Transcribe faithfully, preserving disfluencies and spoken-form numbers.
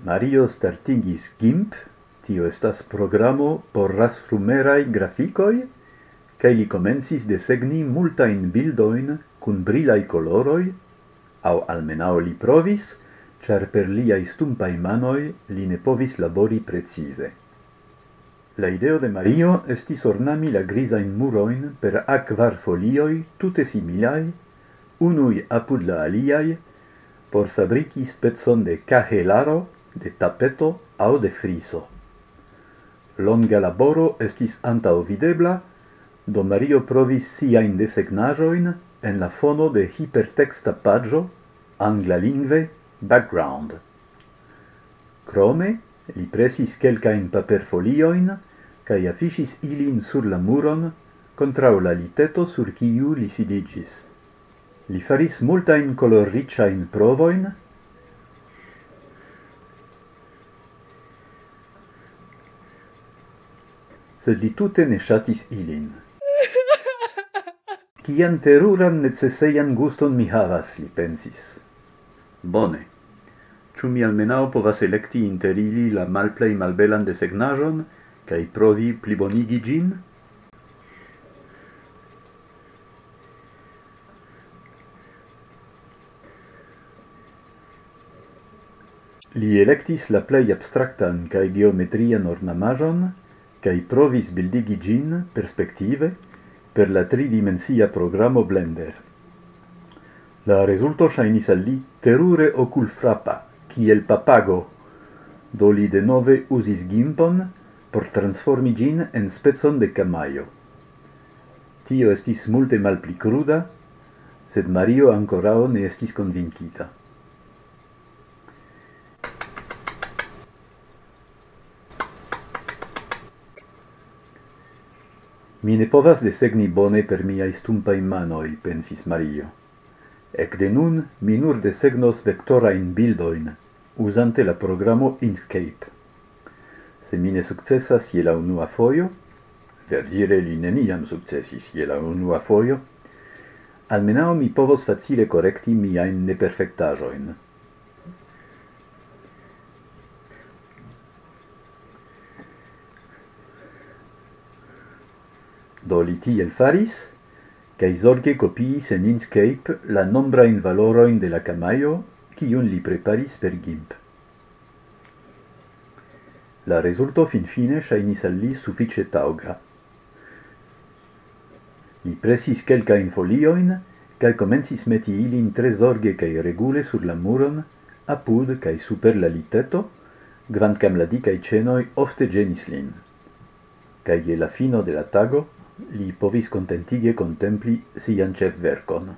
Mario startingis gimp, tio estas programo por rasrumeraj grafikoj, kaj li komencis desegni multajn bildojn kun brilaj koloroj, aŭ almenaŭ li provis, ĉar per liaj stumpaj manoj li ne povis labori precize. La ideo de Mario estis ornami la grizajn murojn per akvar folioj tute similaj, unuj apud la aliaj, por fabriki specon de kahelaro, de tapeto aŭ de friso. Longa laboro estis antaŭvidebla, do Mario provis siajn desegnaĵojn en la fono de hiperteksta paĝo, anglalingve background. Krome, li presis kelkajn paperfoliojn kaj afiŝis ilin sur la muron kontraŭ la liteto, sur kiu li sidiĝis. Li faris multajn kolorriĉajn provojn, sed li tute ne ŝatis ilin. Kian teruran necesejan guston mi havas, li pensis. Bone. Ĉu mi almenaŭ povas elekti inter ili la malplej malbelan desegnaĵon kaj provi plibonigi ĝin? Li elektis la plej abstraktan kaj geometrian ornamaĵon kaj provis bildigi ĝin perspektive per la tridimensia programo Blender. La rezulto ŝajnis al li terure okulfrapa, kiel papago, do li denove uzis gimpon por transformi ĝin en specon de kamajo. Tio estis multe malpli kruda, sed Mario ankoraŭ ne estis konvinkita. Mi ne povas desegni bone per miaj stumpaj manoj, pensis Mario. Ekde nun mi nur desegnos vektorajn bildojn, uzante la programo Inkscape. Se mi ne sukcesas je la unua fojo, verdire li neniam sukcesis je la unua fojo, almenaŭ mi povos facile korekti miajn neperfektaĵojn. Do li tiel faris, kaj zorge kopiis en Inkscape la nombrajn valorojn de la kamajo, kiun li preparis per gimp. La rezulto finfine ŝajnis al li sufiĉe taŭga. Li presis kelkajn foliojn, kaj komencis meti ilin tre zorge kaj regule sur la muron, apud kaj super la liteto, kvankam la dikaj ĉenoj ofte ĝenis lin. Kaj je la fino de la tago, li povis kontentige kontempli sian ĉefverkon.